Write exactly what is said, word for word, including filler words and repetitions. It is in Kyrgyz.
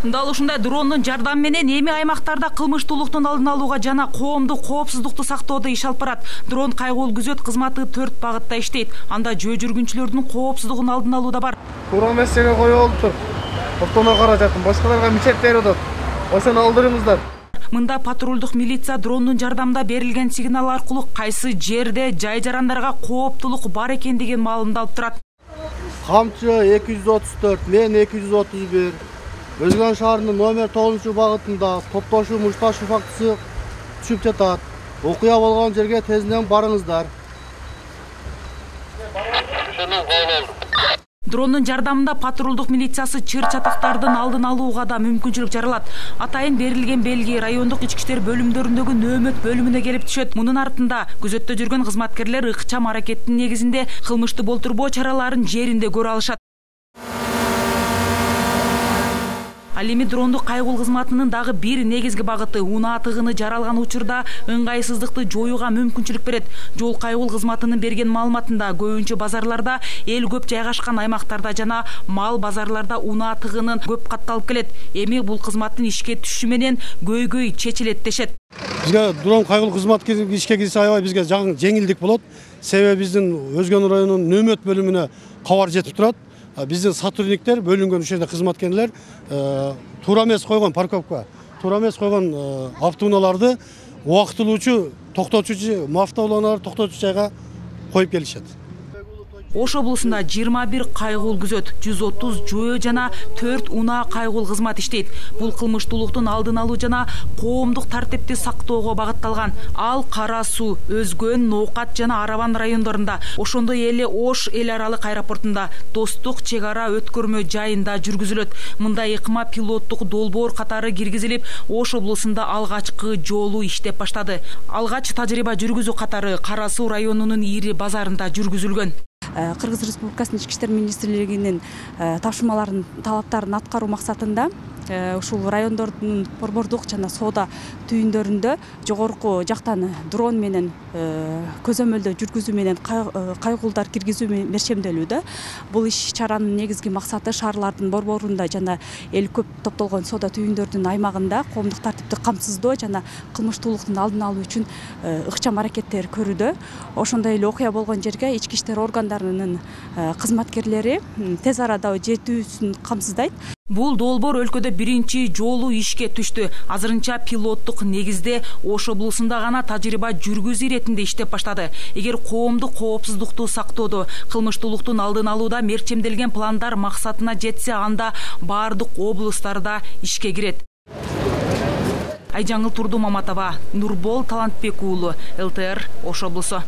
Дал ушундай дрондун жардамы менен эми аймактарда кылмыштуулуктун алдын алууга жана коомдук коопсуздукту сактоодо иш алып барат. Дрон кайгуул күзөт кызматы төрт багытта иштейт. Анда жөө жүргүнчүлөрдүн коопсуздугун алдын алуу да бар. Туура эмес жерге коюп алыптыр. Токтоно каражатын башкаларга мичет берип атат. Ошону алдырыңыздар. Мында патрулдук милиция дрондун жардамында берилген сигнал аркылуу кайсы жерде жай жарандарга кооптулук бар экендигин маалымдап алып турат. Камчы эки жүз отуз төрт, мен эки жүз отуз бир, Өзгөн шаарынын номер тогузунчу багытында топтошуу мушташуу фактысы түшүп жатат. Окуя болгон жерге тезинен барыңыздар. Дрондун жардамында патрулдук милициясы чыр чатактардын алдын алууга да мүмкүнчүлүк жаралат. Атайын берилген белги райондук ички иштер бөлүмдөрүндөгү нөөмөт бөлүмүнө келип түшөт. Мунун артында күзөттө жүргөн кызматкерлер ыкчам аракеттин негизинде кылмышты болтурбоо чараларын жеринде көрө алышат. Ал эми дрондук кайгуул кызматынын дагы бир негизги багыты унаа тыгыны жаралган учурда ыңгайсыздыкты жоюуга мүмкүнчүлүк берет. Жол кайгуул кызматынын берген маалыматында көбүнчө базарларда, эл көп жайгашкан аймактарда жана мал базарларда унаа тыгынын көп катталып келет. Эми бул кызматтын ишке түшүшү менен көйгөй чечилет дешет. Бизге дрон кайгуул кызмат ишке кирсе аябай бизге жеңилдик болот. Себеби биздин Өзгөн районунун нөөмөт бөлүмүнө кабар жетип турат. Биздин сотрудниктер, бөлүнгөн ушерде кызматкерлер туура эмес койгон парковка, туура эмес койгон автоунааларды убактылуучу, токтотуучу, автоунааларды токтотуучу жайга коюп келишет. Ош облусунда жыйырма бир кайгуул күзөт, жүз отуз жөө жана төрт унаа кайгуул кызмат иштейт. Бул кылмыштуулуктун алдын алуу жана коомдук тартипти сактоого багытталган. Ал Кара Суу, Өзгөн, Ноокат жана Араван райондорунда, ошондой эле Ош эл аралык аэропортунда, Достук чек ара өткөрмө жайында жүргүзүлөт. Мындай ыкма пилоттук долбоор катары киргизилип, Ош облусунда алгачкы жолу иштеп баштады. Алгач тажрыйба жүргүзүү катары Кара Суу районунун ири базарында жүргүзүлгөн. Кыргыз Республикасынын ички иштер министрлигинин тапшырмаларын, талаптарын аткаруу максатында ушул райондордун борбордук жана соода түйүндөрүндө жогорку жактан дрон менен көзөмөлдөө жүргүзүү менен кайгуулдар киргизүү мерчемделүүдө. Бул иш чаранын негизги максаты шаарлардын борборунда жана эл көп топтолгон соода түйүндөрдүн аймагында коомдук тартипти камсыздоо жана кылмыштуулуктун алдын алуу үчүн ыкчам аракеттер көрүүдө. Ошондой эле окуя болгон жерге ички иштер органдарынын кызматкерлери тез арада жетүүсүн камсыздайт. Бул долбоор өлкөдө биринчи жолу ишке түштү. Азырынча пилоттук негизде Ош облусунда гана тажрыйба жүргүзүү иретинде иштеп баштады. Эгер коомдук коопсуздукту сактоодо, кылмыштуулуктун алдын алууда мерчемделген пландар максатына жетсе, анда баардык облустарда ишке кирет. Айжаңыл Турду Маматова, Нурбол Талантбек уулу, эл тэ эр Ош облусу.